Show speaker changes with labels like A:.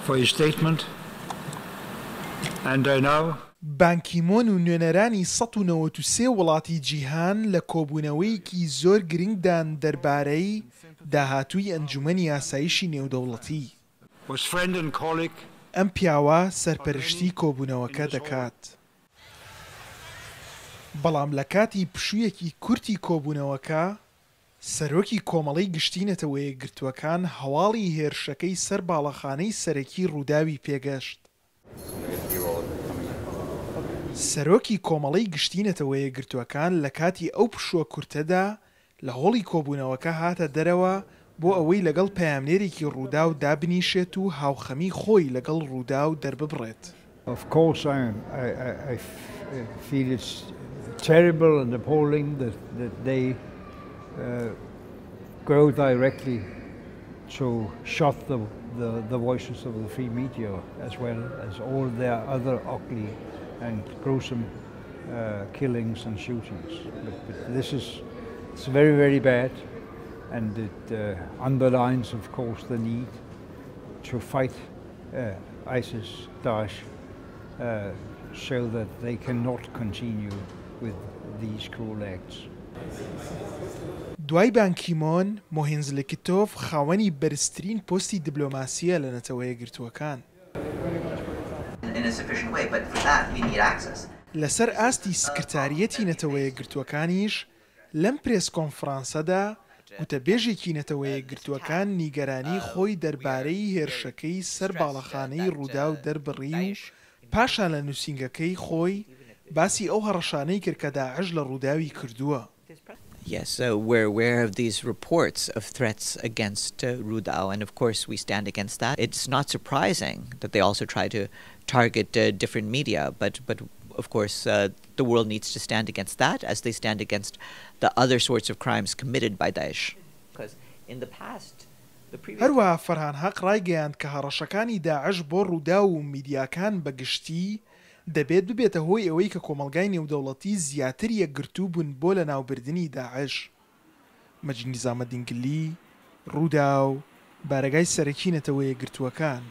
A: For his statement and I now.
B: بان کیمۆن و نوێنەرانی 193 وڵاتی جیهان لە کۆبوونەوەیەکی زۆر گرنگدان دەربارەی داهاتووی ئەنجومەنی ئاسایشی نێودەوڵەتی.
A: Was friend and colleague.
B: ئەم پیاوە سەرپەرشتی کۆبوونەوەکە دەکات. بەڵام لە کاتی پشوویەکی کورتی کۆبوونەوەکە، سەرۆکی کۆمەڵەی گشتی نەتەوەیەکگرتووەکان هەواڵی هێرشەکەی سەر باڵەخانەی سەرەکی ڕووداوی پێگەشت. سەرۆکی کۆمەڵەی گشتی نەتەوەیەکگرتووەکان لە کاتی ئەو پشووە کورتەدا لە هۆڵی کۆبوونەوەکە هاتە دەرەوە بۆ ئەوەی لەگەڵ پەیامنێرێکی ڕووداو دابنیشێت و هاوخەمی خۆی لەگەڵ ڕووداو دەرببڕێت.
A: Of course I feel it's terrible and appalling that they go directly to shut the voices of the free media as well as all their other ugly and gruesome killings and shootings. But this is it's very very bad and it underlines of course the need to fight ISIS, Daesh, so that they cannot continue with these cruel acts.
B: دوای بان کیمۆن، مۆهێنز لکتۆف خاوەنی بەرزترین پۆستی دیبلۆماسییە لە نەتەوەیەکگرتووەکان.
C: In a sufficient way, but for that we need access.
B: لەسەر ئاستی سکرتاریەتی نەتەوەیەکگرتووەکانیش لەم پرێس کۆنفرانسەدا گوتەبێژێکی نەتەوەیەکگرتووەکان نیگەرانی خۆی دەربارەی هێرشەکەی سەر باڵەخانەی ڕووداو دەربڕی و پاشان لە نووسینگەکەی خۆی باسی ئەو هەڕەشانەی کرد کە داعش لە ڕووداوی کردووە.
C: Yes, we're aware of these reports of threats against Rudaw, and of course we stand against that. It's not surprising that they also try to target different media, but of course the world needs to stand against that as they stand against the other sorts of crimes committed by Daesh. Because in the past, the previous
B: هەروەها فەرهان هەق ڕایگەیاند کە هەڕەشەکانی داعش بۆ ڕووداو و میدیاکان بە گشتی دەبێت ببێتە هۆی ئەوەی کە کۆمەڵگای نێودەوڵەتی زیاتر یەکگرتوو بن بۆ لەناوبردنی داعش. مەجید نیزامەدین گلی، ڕووداو، بارەگای سەرەکی نەتەوەیەکگرتووەکان.